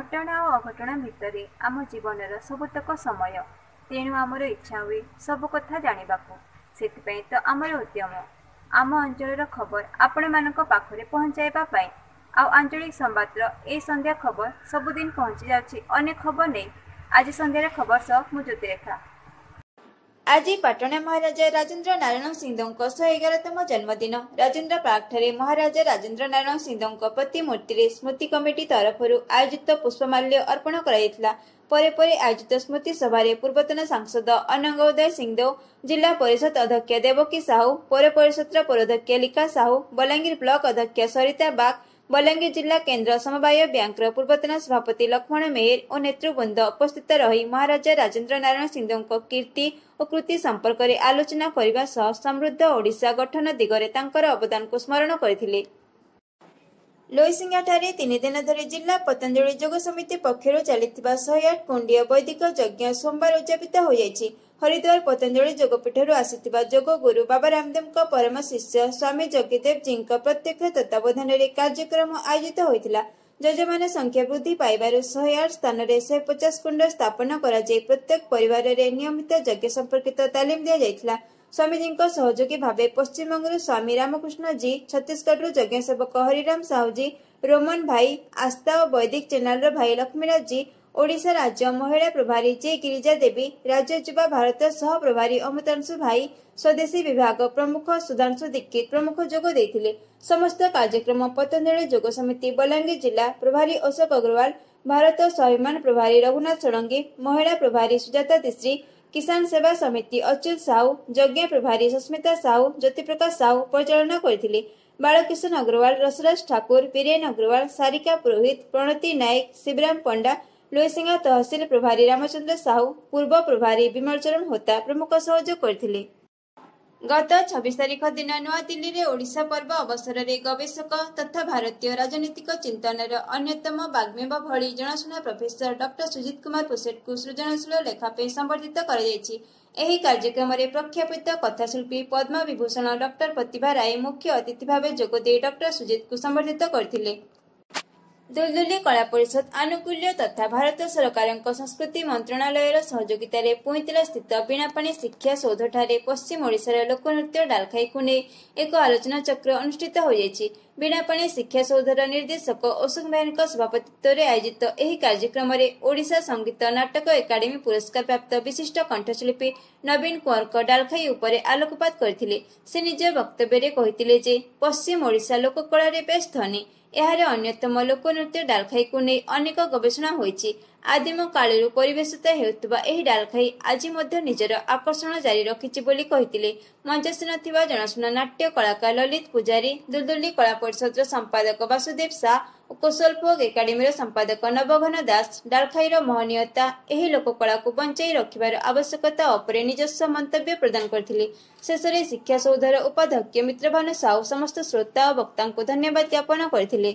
ଘଟଣା ଓ ଅଘଟଣା ଭିତରେ ଆମ ଜୀବନର ସବୁତକ ସମୟ। ତେଣୁ ଆମର ଇଚ୍ଛା ହୁଏ ସବୁ କଥା ଜାଣିବାକୁ। ସେଥିପାଇଁ ତ ଆମର ଉଦ୍ୟମ ଆମ ଅଞ୍ଚଳର ଖବର ଆପଣମାନଙ୍କ ପାଖରେ ପହଞ୍ଚାଇବା ପାଇଁ। ଆଉ ଆଞ୍ଚଳିକ ସମ୍ବାଦର ଏଇ ସନ୍ଧ୍ୟା ଖବର ସବୁଦିନ ପହଞ୍ଚି ଯାଉଛି ଅନେକ ଖବର ନେଇ। ଆଜି ସନ୍ଧ୍ୟାରେ ଖବର ସହ ମୁଁ ଜ୍ୟୋତିରେଖା। ଆଜି ପାଟଣା ମହାରାଜା ରାଜେନ୍ଦ୍ର ନାରାୟଣ ସିଂଦେଓଙ୍କ 111ତମ ଜନ୍ମଦିନ। ରାଜେନ୍ଦ୍ର ପାର୍କଠାରେ ମହାରାଜା ରାଜେନ୍ଦ୍ର ନାରାୟଣ ସିଂଦେଓଙ୍କ ପ୍ରତିମୂର୍ତ୍ତିରେ ସ୍ମୃତି କମିଟି ତରଫରୁ ଆୟୋଜିତ ପୁଷ୍ପମାଲ୍ୟ ଅର୍ପଣ କରାଯାଇଥିଲା। ପରେ ପରେ ଆୟୋଜିତ ସ୍ମୃତି ସଭାରେ ପୂର୍ବତନ ସାଂସଦ ଅନଙ୍ଗ ଉଦୟ ସିଂଦେଓ, ଜିଲ୍ଲା ପରିଷଦ ଅଧ୍ୟକ୍ଷା ଦେବକୀ ସାହୁ, ପୌର ପରିଷଦର ପୌରାଧ୍ୟକ୍ଷା ଲିକା ସାହୁ, ବଲାଙ୍ଗୀର ବ୍ଲକ ଅଧ୍ୟକ୍ଷା ସରିତା ବାଗ, ବଲାଙ୍ଗୀର ଜିଲ୍ଲା କେନ୍ଦ୍ର ସମବାୟ ବ୍ୟାଙ୍କର ପୂର୍ବତନ ସଭାପତି ଲକ୍ଷ୍ମଣ ମେହେର ଓ ନେତୃବୃନ୍ଦ ଉପସ୍ଥିତ ରହି ମହାରାଜା ରାଜେନ୍ଦ୍ର ନାରାୟଣ ସିଂଦେଓଙ୍କ କୀର୍ତ୍ତି ଓ କୃତି ସମ୍ପର୍କରେ ଆଲୋଚନା କରିବା ସହ ସମୃଦ୍ଧ ଓଡ଼ିଶା ଗଠନ ଦିଗରେ ତାଙ୍କର ଅବଦାନକୁ ସ୍ମରଣ କରିଥିଲେ। ଲୋଇସିଂହାଠାରେ 3 ଦିନ ଧରି ଜିଲ୍ଲା ପତଞ୍ଜଳି ଯୋଗ ସମିତି ପକ୍ଷରୁ ଚାଲିଥିବା 108 କୁଣ୍ଡୀୟ ବୈଦିକ ଯଜ୍ଞ ସୋମବାର ଉଦଯାପିତ ହୋଇଯାଇଛି। ହରିଦ୍ୱାର ପତଞ୍ଜଳି ଯୋଗପୀଠରୁ ଆସିଥିବା ଯୋଗ ଗୁରୁ ବାବା ରାମଦେବଙ୍କ ପରମ ଶିଷ୍ୟ ସ୍ୱାମୀ ଯଜ୍ଞଦେବଜୀଙ୍କ ପ୍ରତ୍ୟକ୍ଷ ତତ୍ତ୍ୱାବଧାନରେ କାର୍ଯ୍ୟକ୍ରମ ଆୟୋଜିତ ହୋଇଥିଲା। ଯଜମାନ ସଂଖ୍ୟା ବୃଦ୍ଧି ପାଇବାରୁ 108 ସ୍ଥାନରେ 150 କୁଣ୍ଡ ସ୍ଥାପନ କରାଯାଇ ପ୍ରତ୍ୟେକ ପରିବାରରେ ନିୟମିତ ଯଜ୍ଞ ସମ୍ପର୍କିତ ତାଲିମ ଦିଆଯାଇଥିଲା। ସ୍ୱାମୀଜୀଙ୍କ ସହଯୋଗୀ ଭାବେ ପଶ୍ଚିମବଙ୍ଗରୁ ସ୍ୱାମୀ ରାମକୃଷ୍ଣ ଜୀ, ଛତିଶଗଡ଼ରୁ ଯଜ୍ଞସେବକ ହରିରାମ ସାହୁଜୀ, ରୋମନ ଭାଇ, ଆସ୍ଥା ଓ ବୈଦିକ ଚ୍ୟାନେଲର ଭାଇ ଲକ୍ଷ୍ମୀରାଜ ଜୀ, ଓଡ଼ିଶା ରାଜ୍ୟ ମହିଳା ପ୍ରଭାରୀ ଜେ ଗିରିଜା ଦେବୀ, ରାଜ୍ୟ ଯୁବା ଭାରତ ସହ ପ୍ରଭାରୀ ଅମୃତାଂଶୁ ଭାଇ, ସ୍ୱଦେଶୀ ବିଭାଗ ପ୍ରମୁଖ ସୁଧାଂଶୁ ଦୀକ୍ଷିତ ପ୍ରମୁଖ ଯୋଗ ଦେଇଥିଲେ। ସମସ୍ତ କାର୍ଯ୍ୟକ୍ରମ ପତଞ୍ଜଳି ଯୋଗ ସମିତି ବଲାଙ୍ଗୀର ଜିଲ୍ଲା ପ୍ରଭାରୀ ଅଶୋକ ଅଗ୍ରୱାଲ, ଭାରତ ସ୍ୱାଭିମାନ ପ୍ରଭାରୀ ରଘୁନାଥ ଷଡ଼ଙ୍ଗୀ, ମହିଳା ପ୍ରଭାରୀ ସୁଜାତା ତିଶ୍ରୀ, କିଷାନ ସେବା ସମିତି ଅଚ୍ୟୁତ ସାହୁ, ଯଜ୍ଞ ପ୍ରଭାରୀ ସସ୍ମିତା ସାହୁ, ଜ୍ୟୋତିପ୍ରକାଶ ସାହୁ ପରିଚାଳନା କରିଥିଲେ। ବାଳକିଶନ ଅଗ୍ରୱାଲ, ରସରାଜ ଠାକୁର, ବୀରେନ ଅଗ୍ରୱାଲ, ସାରିକା ପୁରୋହିତ, ପ୍ରଣତି ନାୟକ, ଶିବରାମ ପଣ୍ଡା, ଲୋଇସିଂହା ତହସିଲ ପ୍ରଭାରୀ ରାମଚନ୍ଦ୍ର ସାହୁ, ପୂର୍ବ ପ୍ରଭାରୀ ବିମଳ ଚରଣ ହୋତା ପ୍ରମୁଖ ସହଯୋଗ କରିଥିଲେ। ଗତ 26 ତାରିଖ ଦିନ ନୂଆଦିଲ୍ଲୀରେ ଓଡ଼ିଶା ପର୍ବ ଅବସରରେ ଗବେଷକ ତଥା ଭାରତୀୟ ରାଜନୈତିକ ଚିନ୍ତନର ଅନ୍ୟତମ ବାଗ୍ମୀ ଭଳି ଜଣାଶୁଣା ପ୍ରଫେସର ଡକ୍ଟର ସୁଜିତ କୁମାର ପୋସେଟଙ୍କୁ ସୃଜନଶୀଳ ଲେଖା ପାଇଁ ସମ୍ବର୍ଦ୍ଧିତ କରାଯାଇଛି। ଏହି କାର୍ଯ୍ୟକ୍ରମରେ ପ୍ରଖ୍ୟାପିତ କଥାଶିଳ୍ପୀ ପଦ୍ମ ବିଭୂଷଣ ଡକ୍ଟର ପ୍ରତିଭା ରାୟ ମୁଖ୍ୟ ଅତିଥି ଭାବେ ଯୋଗଦେଇ ଡକ୍ଟର ସୁଜିତଙ୍କୁ ସମ୍ବର୍ଦ୍ଧିତ କରିଥିଲେ। ଦୁଲଦୁଲି କଳା ପରିଷଦ ଆନୁକୂଲ୍ୟ ତଥା ଭାରତ ସରକାରଙ୍କ ସଂସ୍କୃତି ମନ୍ତ୍ରଣାଳୟର ସହଯୋଗିତାରେ ପୁଇଁତଲା ସ୍ଥିତ ବୀଣାପାଣି ଶିକ୍ଷା ସୌଧଠାରେ ପଶ୍ଚିମ ଓଡ଼ିଶାର ଲୋକନୃତ୍ୟ ଡାଲଖାଇକୁ ନେଇ ଏକ ଆଲୋଚନାଚକ୍ର ଅନୁଷ୍ଠିତ ହୋଇଯାଇଛି। ବୀଣାପାଣି ଶିକ୍ଷା ସୌଧର ନିର୍ଦ୍ଦେଶକ ଅଶୋକ ମେହେରଙ୍କ ସଭାପତିତ୍ୱରେ ଆୟୋଜିତ ଏହି କାର୍ଯ୍ୟକ୍ରମରେ ଓଡ଼ିଶା ସଙ୍ଗୀତ ନାଟକ ଏକାଡେମୀ ପୁରସ୍କାର ପ୍ରାପ୍ତ ବିଶିଷ୍ଟ କଣ୍ଠଶିଳ୍ପୀ ନବୀନ କୁଅଁରଙ୍କ ଡାଲଖାଇ ଉପରେ ଆଲୋକପାତ କରିଥିଲେ। ସେ ନିଜ ବକ୍ତବ୍ୟରେ କହିଥିଲେ ଯେ ପଶ୍ଚିମ ଓଡ଼ିଶା ଲୋକକଳାରେ ବେଶ୍ ଧନୀ। ଏହାର ଅନ୍ୟତମ ଲୋକନୃତ୍ୟ ଡାଲଖାଇକୁ ନେଇ ଅନେକ ଗବେଷଣା ହୋଇଛି। ଆଦିମ କାଳରୁ ପରିବେଷିତ ହେଉଥିବା ଏହି ଡାଲଖାଇ ଆଜି ମଧ୍ୟ ନିଜର ଆକର୍ଷଣ ଜାରି ରଖିଛି ବୋଲି କହିଥିଲେ। ମଞ୍ଚାସୀନ ଥିବା ଜଣାଶୁଣା ନାଟ୍ୟ କଳାକାର ଲଲିତ ପୂଜାରୀ, ଦୁଲଦୁଲି କଳା ପରିଷଦର ସମ୍ପାଦକ ବାସୁଦେବ ସା ଓ କୋଶଲ ଫୋକ୍ ଏକାଡେମୀର ସମ୍ପାଦକ ନବଘନ ଦାସ ଡାଲଖାଇର ମହନୀୟତା, ଏହି ଲୋକକଳାକୁ ବଞ୍ଚାଇ ରଖିବାର ଆବଶ୍ୟକତା ଉପରେ ନିଜସ୍ୱ ମନ୍ତବ୍ୟ ପ୍ରଦାନ କରିଥିଲେ। ଶେଷରେ ଶିକ୍ଷା ସୌଧର ଉପାଧ୍ୟକ୍ଷ ମିତ୍ରଭାନୁ ସାହୁ ସମସ୍ତ ଶ୍ରୋତା ଓ ବକ୍ତାଙ୍କୁ ଧନ୍ୟବାଦ ଜ୍ଞାପନ କରିଥିଲେ।